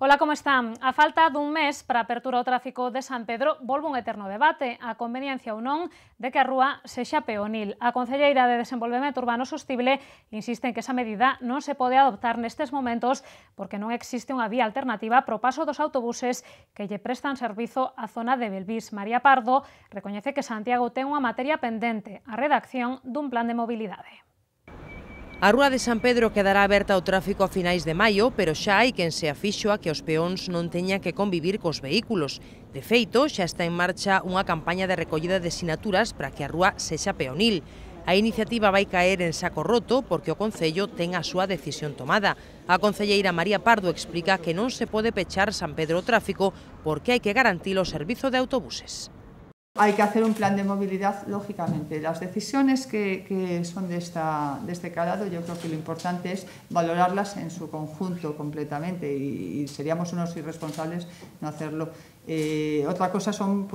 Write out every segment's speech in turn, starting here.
Ola, como están? A falta dun mes para a apertura ao tráfico de San Pedro volve un eterno debate, a conveniencia ou non de que a rúa sexa peonil. A Concelleira de Desenvolvemento Urbano Sostible insiste en que esa medida non se pode adoptar nestes momentos porque non existe unha vía alternativa para o paso dos autobuses que lle prestan servizo á zona de Belvís. María Pardo recoñece que Santiago ten unha materia pendente, a redacción dun plan de mobilidade. A rúa de San Pedro quedará aberta ao tráfico a finais de maio, pero xa hai quen se afixo a que os peóns non teñan que convivir cos vehículos. De feito, xa está en marcha unha campaña de recollida de sinaturas para que a rúa sexa peonil. A iniciativa vai caer en saco roto porque o Concello ten a súa decisión tomada. A concelleira María Pardo explica que non se pode pechar San Pedro ao tráfico porque hai que garantir o servizo de autobuses. Hay que hacer un plan de movilidad, lógicamente. Las decisiones que son de este calado, yo creo que lo importante es valorarlas en su conjunto completamente y seríamos unos irresponsables no hacerlo. Otra cosa son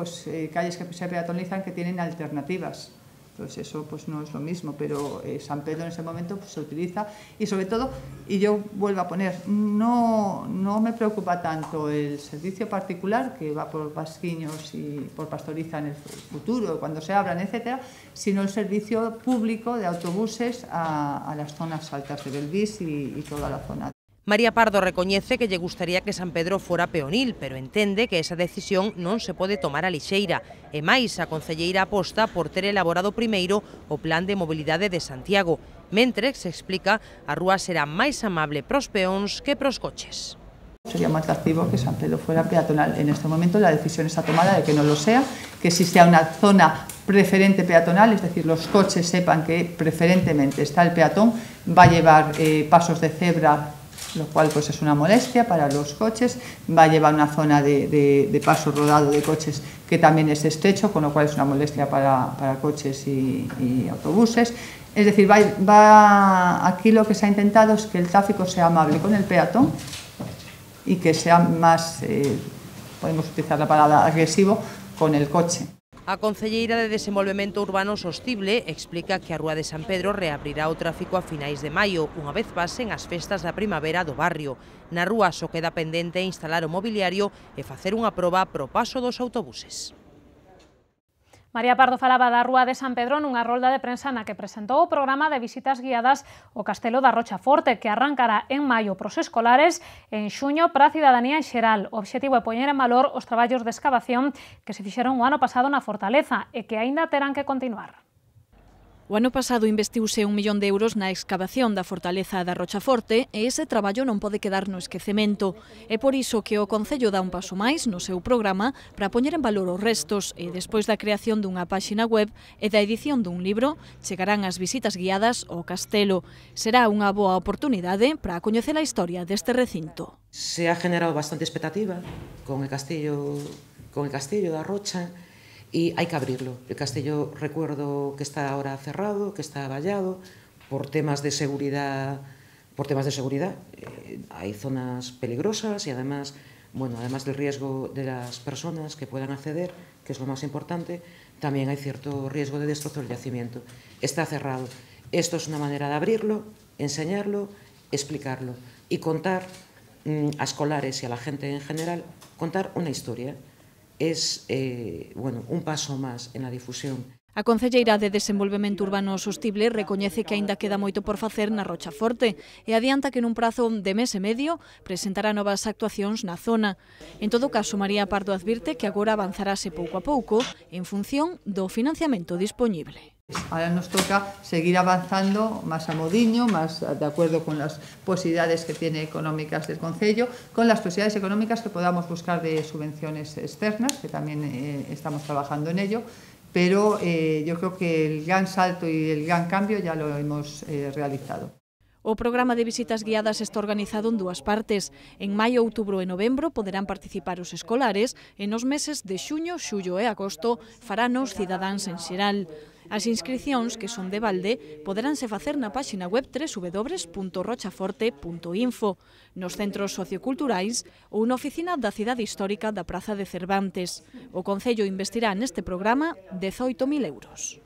calles que se peatonalizan que tienen alternativas. Entonces eso no es lo mismo, pero San Pedro en ese momento se utiliza y sobre todo, y yo vuelvo a poner, no me preocupa tanto el servicio particular que va por Pasquiños y por Pastoriza en el futuro, cuando se abran, etcétera, sino el servicio público de autobuses a las zonas altas de Belvís y toda la zona. María Pardo recoñece que lle gustaría que San Pedro fora peonil, pero entende que esa decisión non se pode tomar a lixeira. E máis, a concelleira aposta por ter elaborado primeiro o plan de mobilidade de Santiago. Mentres, se explica, a rúa será máis amable pros peóns que pros coches. Sería más atractivo que San Pedro fuera peatonal. En este momento la decisión está tomada de que no lo sea, que si sea una zona preferente peatonal, es decir, los coches sepan que preferentemente está el peatón, va a llevar pasos de cebra, lo cual es una molestia para los coches, va a llevar una zona de paso rodado de coches que también es estrecho, con lo cual es una molestia para coches y autobuses. Es decir, aquí lo que se ha intentado es que el tráfico sea amable con el peatón y que sea más, podemos utilizar la palabra agresivo, con el coche. A concelleira de Desenvolvemento Urbano Sostible explica que a rúa de San Pedro reabrirá o tráfico a finais de maio, unha vez pasen as festas da primavera do barrio. Na rúa só queda pendente instalar o mobiliario e facer unha proba pro paso dos autobuses. María Pardo falaba da rúa de San Pedro nunha rolda de prensa na que presentou o programa de visitas guiadas ao Castelo da Rochaforte, que arrancará en maio pros escolares e en xuño para a cidadanía en xeral. O obxectivo é poñer en valor os traballos de excavación que se fixeron o ano pasado na fortaleza e que aínda terán que continuar. O ano pasado investiuse 1 millón de euros na excavación da fortaleza da Rochaforte e ese traballo non pode quedar no esquecemento. É por iso que o Concello dá un paso máis no seu programa para poñer en valor os restos e despois da creación dunha páxina web e da edición dun libro, chegarán as visitas guiadas ao castelo. Será unha boa oportunidade para coñecer a historia deste recinto. Se ha generado bastante expectativa con el castillo da Rocha, y hay que abrirlo. El castillo, recuerdo que está ahora cerrado, que está vallado por temas de seguridad. Hay zonas peligrosas y además del riesgo de las personas que puedan acceder, que es lo más importante, también hay cierto riesgo de destrozo del yacimiento. Está cerrado. Esto es una manera de abrirlo, enseñarlo, explicarlo y contar a escolares y a la gente en general, contar una historia. Es un paso más en la difusión. A concelleira de Desenvolvemento Urbano Sostible recoñece que aínda queda moito por facer na Rochaforte e adianta que nun prazo de mes e medio presentará novas actuacións na zona. En todo caso, María Pardo advirte que agora avanzarase pouco a pouco en función do financiamento dispoñible. Ahora nos toca seguir avanzando más a modiño, más de acuerdo con las posibilidades que tiene económicas del Concello, con las posibilidades económicas que podamos buscar de subvenciones externas, que también estamos trabajando en ello, pero yo creo que el gran salto y el gran cambio ya lo hemos realizado. O programa de visitas guiadas está organizado en dúas partes. En maio, outubro e novembro poderán participar os escolares e nos meses de xuño, xullo e agosto farán os cidadáns en xeral. As inscricións, que son de balde, poderánse facer na páxina web www.rochaforte.info, nos centros socioculturais ou na oficina da Cidade Histórica da Praza de Cervantes. O Concello investirá neste programa 18.000 euros.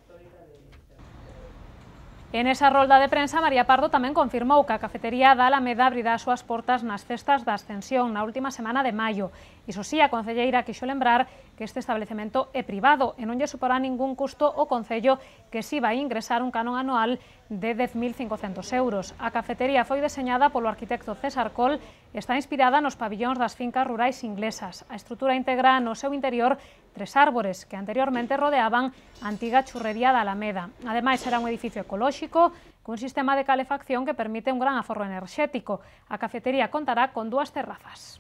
En esa rolda de prensa, María Pardo tamén confirmou que a cafetería da Alameda abrirá as súas portas nas festas da Ascensión na última semana de maio. Iso sí, a concelleira quixo lembrar que este establecemento é privado e non lle suporá ningún custo ao Concello, que si vai ingresar un canon anual de 10.500 euros. A cafetería foi deseñada polo arquitecto César Coll e está inspirada nos pabillóns das fincas rurais inglesas. A estrutura integra no seu interior 3 árbores que anteriormente rodeaban a antiga churrería da Alameda. Ademais, será un edificio ecolóxico cun sistema de calefacción que permite un gran aforro enerxético. A cafetería contará con 2 terrazas.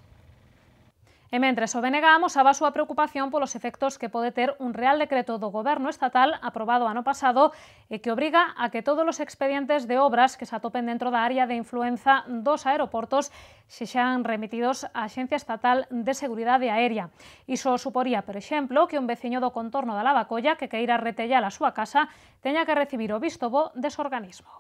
E mentres, o BNG amosaba a súa preocupación polos efectos que pode ter un Real Decreto do Goberno estatal aprobado ano pasado e que obriga a que todos os expedientes de obras que se atopen dentro da área de influenza dos aeroportos sexan remitidos á Axencia Estatal de Seguridade Aérea. Iso suporía, por exemplo, que un veciño do contorno da Lavacolla que queira retellar a súa casa teña que recibir o visto bo dese organismo.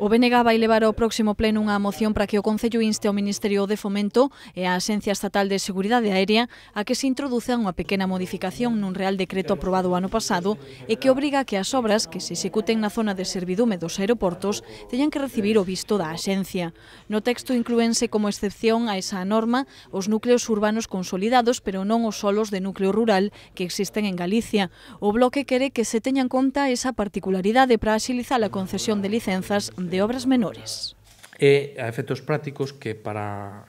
O BNG vai levar ao próximo pleno unha moción para que o Concello inste ao Ministerio de Fomento e á Axencia Estatal de Seguridade Aérea a que se introduza unha pequena modificación nun Real Decreto aprobado o ano pasado e que obriga a que as obras que se executen na zona de servidume dos aeroportos teñan que recibir o visto da Axencia. No texto inclúense como excepción a esa norma os núcleos urbanos consolidados, pero non os solos de núcleo rural que existen en Galicia. O Bloque quere que se teña en conta esa particularidade para axilizar a concesión de licenzas de obras menores. E a efectos prácticos que para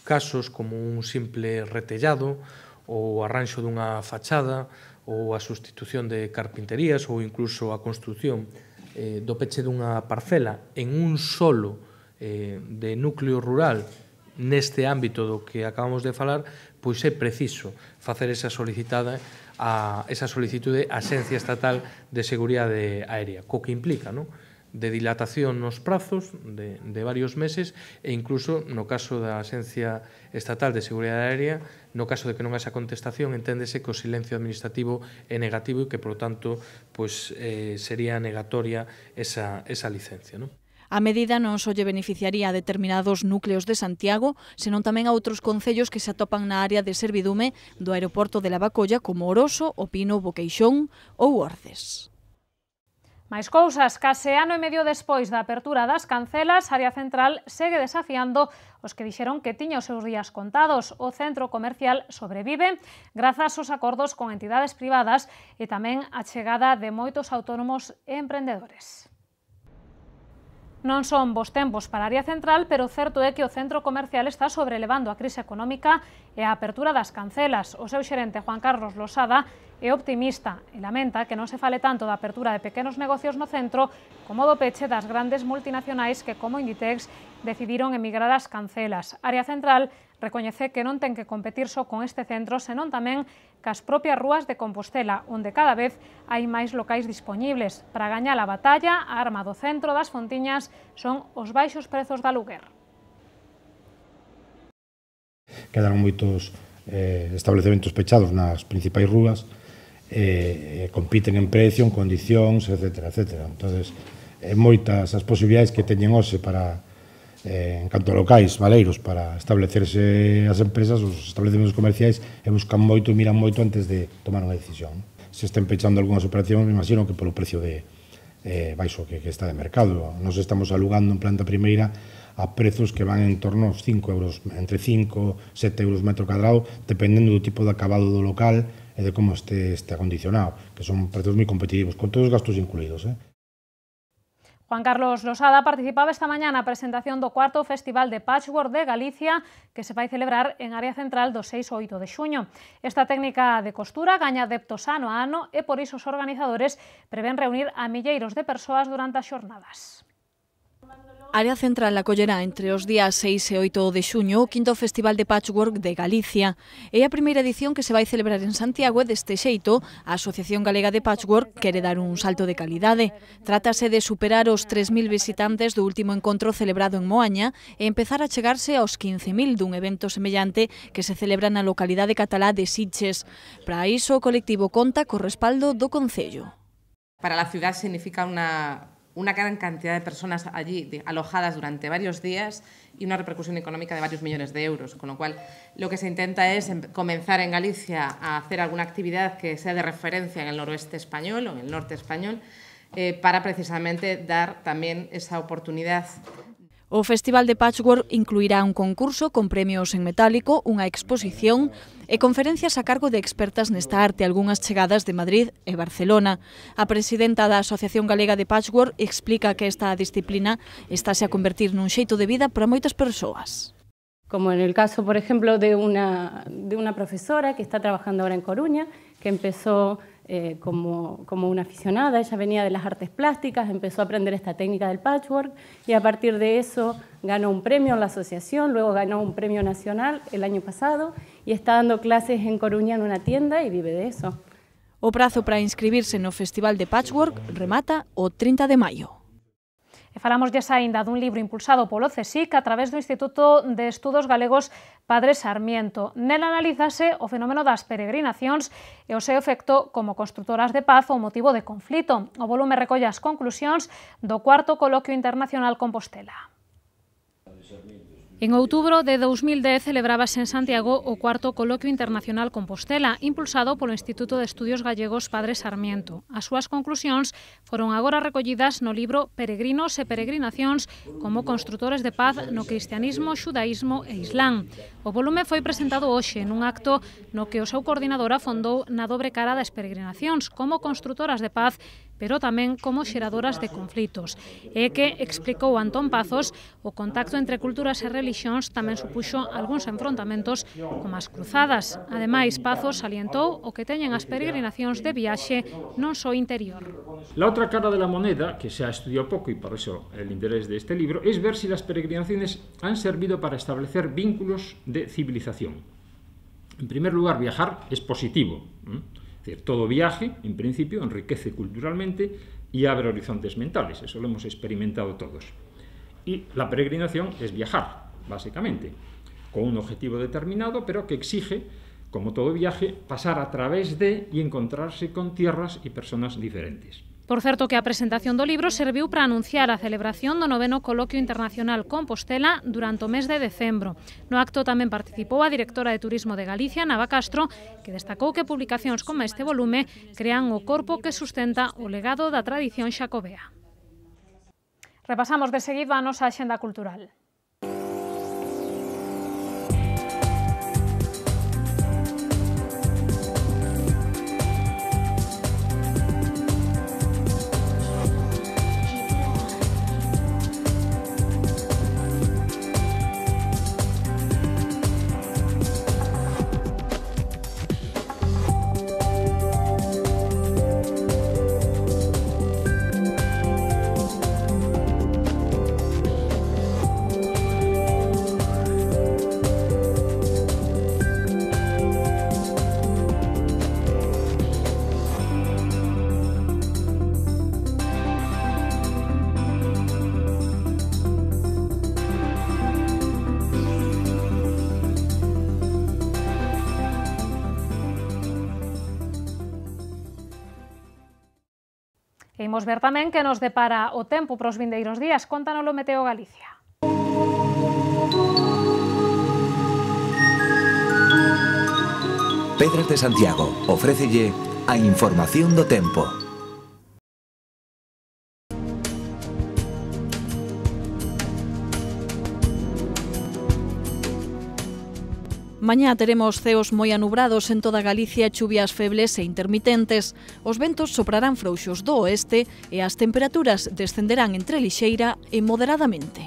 casos como un simple retellado ou arranxo dunha fachada ou a sustitución de carpinterías ou incluso a construción do peche dunha parcela en un solo de núcleo rural neste ámbito do que acabamos de falar, pois é preciso facer esa solicitude á Axencia Estatal de Seguridade Aérea, co que implica, non? De dilatación nos prazos de varios meses e incluso no caso da Axencia Estatal de Seguridade Aérea, no caso de que non haxa contestación, enténdese que o silencio administrativo é negativo e que, por tanto, sería negatoria esa licencia, non? A medida non só lle beneficiaría a determinados núcleos de Santiago, senón tamén a outros concellos que se atopan na área de servidume do aeroporto de Lavacolla como Oroso, O Pino, Boqueixón ou Orces. Máis cousas, case ano e medio despois da apertura das cancelas, a área central segue desafiando os que dixeron que tiña os seus días contados. O centro comercial sobrevive grazas aos acordos con entidades privadas e tamén a chegada de moitos autónomos e emprendedores. Non son bos tempos para a área central, pero o certo é que o centro comercial está sobrelevando a crise económica e a apertura das cancelas. O seu xerente, Juan Carlos Losada, é optimista e lamenta que non se fale tanto da apertura de pequenos negocios no centro como do peche das grandes multinacionais que, como Inditex, decidiron emigrar ás cancelas. A área central recoñece que non ten que competir só con este centro, senón tamén cas propias rúas de Compostela, onde cada vez hai máis locais dispoñibles. Para gañar a batalla, a arma do centro das Fontiñas son os baixos prezos de aluguer. Quedaron moitos establecementos pechados nas principais rúas, compiten en precio, en condicións, etc. Entonces, moitas as posibilidades que teñen hoxe para, en canto a locais, valeiros, para establecerse as empresas, os establecementos comerciais, e buscan moito e miran moito antes de tomar unha decisión. Se estén pechando algunhas operacións, me imagino que polo precio baixo que está de mercado. Nos estamos alugando en planta primeira a prezos que van en torno aos 5 euros, entre 5 e 7 euros metro cadrado, dependendo do tipo de acabado do local e de como este acondicionado, que son prezos moi competitivos, con todos os gastos incluídos. Juan Carlos Losada participaba esta mañá na presentación do 4º Festival de Patchwork de Galicia, que se vai celebrar en área central do 6 ao 8 de xuño. Esta técnica de costura gaña adeptos ano a ano e por iso os organizadores prevén reunir a milleiros de persoas durante as xornadas. A área central acollerá entre os días 6 e 8 de xuño o 5º Festival de Patchwork de Galicia. É a primeira edición que se vai celebrar en Santiago e deste xeito a Asociación Galega de Patchwork quere dar un salto de calidade. Trátase de superar os 3.000 visitantes do último encontro celebrado en Moaña e empezar a chegarse aos 15.000 dun evento semellante que se celebra na localidade catalá de Sitges. Para iso o colectivo conta co respaldo do Concello. Para la ciudad significa una gran cantidad de personas allí alojadas durante varios días y una repercusión económica de varios millones de euros, con lo cual lo que se intenta es comenzar en Galicia a hacer alguna actividad que sea de referencia en el noroeste español o en el norte español, para precisamente dar tamén esa oportunidade. O Festival de Patchwork incluirá un concurso con premios en metálico, unha exposición e conferencias a cargo de expertas nesta arte, algunhas chegadas de Madrid e Barcelona. A presidenta da Asociación Galega de Patchwork explica que esta disciplina estáse a convertir nun xeito de vida para moitas persoas. Como en el caso, por ejemplo, de una profesora que está trabajando ahora en Coruña, que empezó como una aficionada. Ella venía de las artes plásticas, empezó a aprender esta técnica del patchwork y a partir de eso ganó un premio en la asociación, luego ganó un premio nacional el año pasado y está dando clases en Coruña en una tienda y vive de eso. O prazo para inscribirse no Festival de Patchwork remata o 30 de maio. E falámoslle aínda dun libro impulsado polo CSIC a través do Instituto de Estudos Galegos Padre Sarmiento. Nela analízase o fenómeno das peregrinacións e o seu efecto como constructoras de paz ou motivo de conflito. O volume recolle as conclusións do 4º Coloquio Internacional Compostela. En outubro de 2010 celebrábase en Santiago o 4º Coloquio Internacional Compostela, impulsado polo Instituto de Estudios Gallegos Padre Sarmiento. As súas conclusións foron agora recollidas no libro Peregrinos e Peregrinacións como construtores de paz no cristianismo, xudaísmo e islán. O volume foi presentado hoxe nun acto no que o seu coordinador afondou na dobre cara das peregrinacións como construtoras de paz, pero tamén como xeradoras de conflitos. E que, explicou Antón Pazos, o contacto entre culturas e relixións tamén supuxo algúns enfrontamentos como as cruzadas. Ademais, Pazos salientou o que teñen as peregrinacións de viaxe non só interior. La otra cara de la moneda, que se ha estudiado poco y por eso el interés de este libro, es ver si las peregrinaciones han servido para establecer vínculos de civilización. En primer lugar, viajar es positivo. Es decir, todo viaje, en principio, enriquece culturalmente y abre horizontes mentales. Eso lo hemos experimentado todos. Y la peregrinación es viajar, básicamente, con un objetivo determinado, pero que exige, como todo viaje, pasar a través de y encontrarse con tierras y personas diferentes. Por certo que a presentación do libro serviu para anunciar a celebración do 9º Coloquio Internacional Compostela durante o mes de decembro. No acto tamén participou a directora de Turismo de Galicia, Nava Castro, que destacou que publicacións como este volume crean o corpo que sustenta o legado da tradición xacobea. Repasamos de seguido a nosa axenda cultural. Imos ver tamén que nos depara o tempo para os vindeiros días. Contanoslo Meteo Galicia. Pedras de Santiago ofrécelle a información do tempo. Mañá teremos ceos moi anubrados en toda Galicia, chuvias febles e intermitentes. Os ventos soprarán frouxos do oeste e as temperaturas descenderán entre lixeira e moderadamente.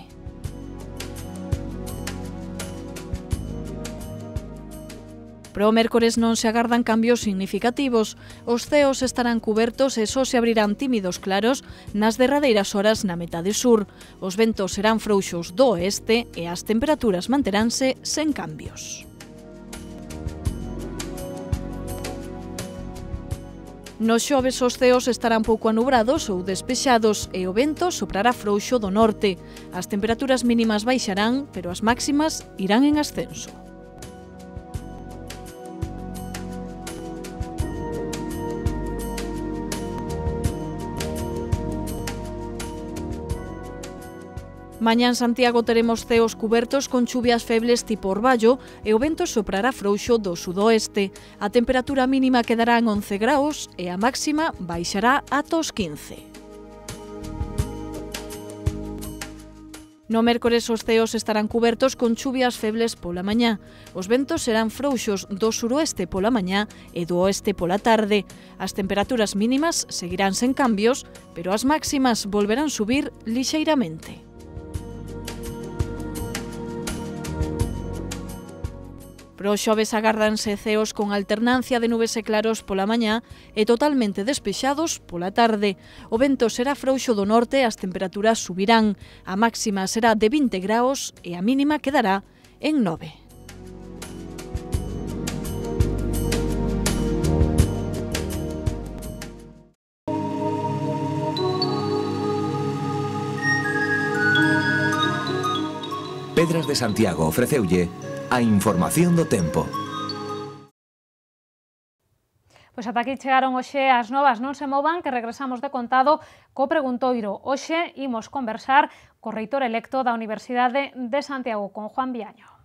Para o mércores non se agardan cambios significativos. Os ceos estarán cubertos e só se abrirán tímidos claros nas derradeiras horas na metade sur. Os ventos serán frouxos do oeste e as temperaturas manteránse sen cambios. Nos xoves os ceos estarán pouco anubrados ou despexados e o vento soprará frouxo do norte. As temperaturas mínimas baixarán, pero as máximas irán en ascenso. Mañá en Santiago teremos ceos cubertos con chuvias febles tipo orballo e o vento soprará frouxo do sudoeste. A temperatura mínima quedará en 11 graus e a máxima baixará ata os 15. No mércores os ceos estarán cubertos con chuvias febles pola mañá. Os ventos serán frouxos do suroeste pola mañá e do oeste pola tarde. As temperaturas mínimas seguirán sen cambios, pero as máximas volverán subir lixeiramente. Para o xoves agárdanse ceos con alternancia de nubes e claros pola mañá e totalmente despexados pola tarde. O vento será frouxo do norte e as temperaturas subirán. A máxima será de 20 graus e a mínima quedará en 9. Pedras de Santiago ofreceulle a información do tempo. Pois ata aquí chegaron hoxe as novas, non se movan, que regresamos de contado co preguntoiro. Hoxe imos conversar co reitor electo da Universidade de Santiago, con Juan Viaño.